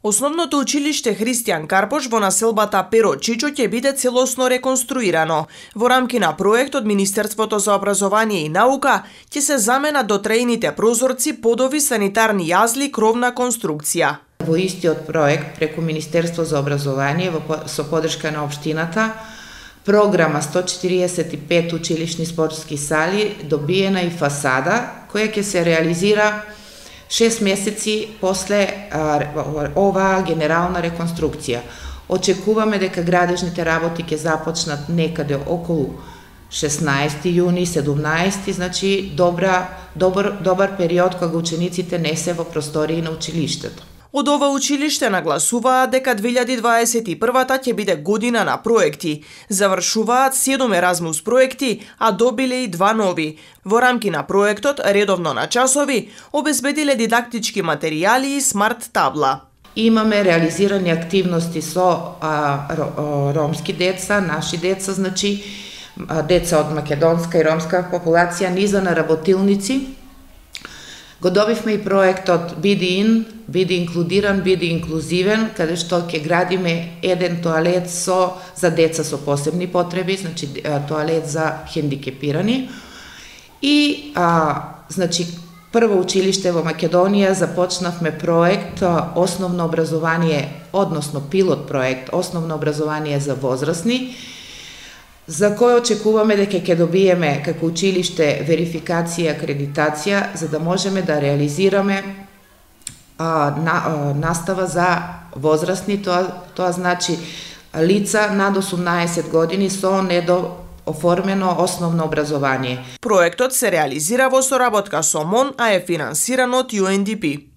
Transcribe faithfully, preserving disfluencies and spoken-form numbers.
Основното училиште Христијан Карпош во населбата Перо Чичо ќе биде целосно реконструирано. Во рамки на проект од Министерството за образование и наука ќе се заменат дотрејните прозорци, подови, санитарни јазли, кровна конструкција. Во истиот проект преку Министерство за образование со поддршка на општината, програма сто четириесет и пет училишни спортски сали добиена и фасада која ќе се реализира шест месеци после а, оваа генерална реконструкција. Очекуваме дека градежните работи ќе започнат некаде околу шеснаесети јуни, седумнаесети, значи добра, добар, добар период кога учениците не се во простории на училиштето. Од ова училиште нагласуваат дека две илјади дваесет и прва ќе биде година на проекти. Завршуваат седум Еразмус проекти, а добиле и два нови. Во рамки на проектот, редовно на часови, обезбедиле дидактички материјали и смарт табла. Имаме реализирани активности со а, ромски деца, наши деца, значи деца од македонска и ромска популација, низа на работилници. Го добивме и проектот Биди ин, биди инклудиран, биди инклузивен, каде што ќе градиме еден тоалет со за деца со посебни потреби, значи тоалет за хендикепирани. И а, значи прво училиште во Македонија започнавме проект основно образование, односно пилот проект основно образование за возрастни, за кој очекуваме дека ќе добиеме како училиште верификација и акредитација, за да можеме да реализираме а, на, а, настава за возрастни, тоа, тоа значи лица над осумнаесет години со недооформено основно образование. Проектот се реализира во соработка со МОН, а е финансиран од Ю Ен Ди Пи.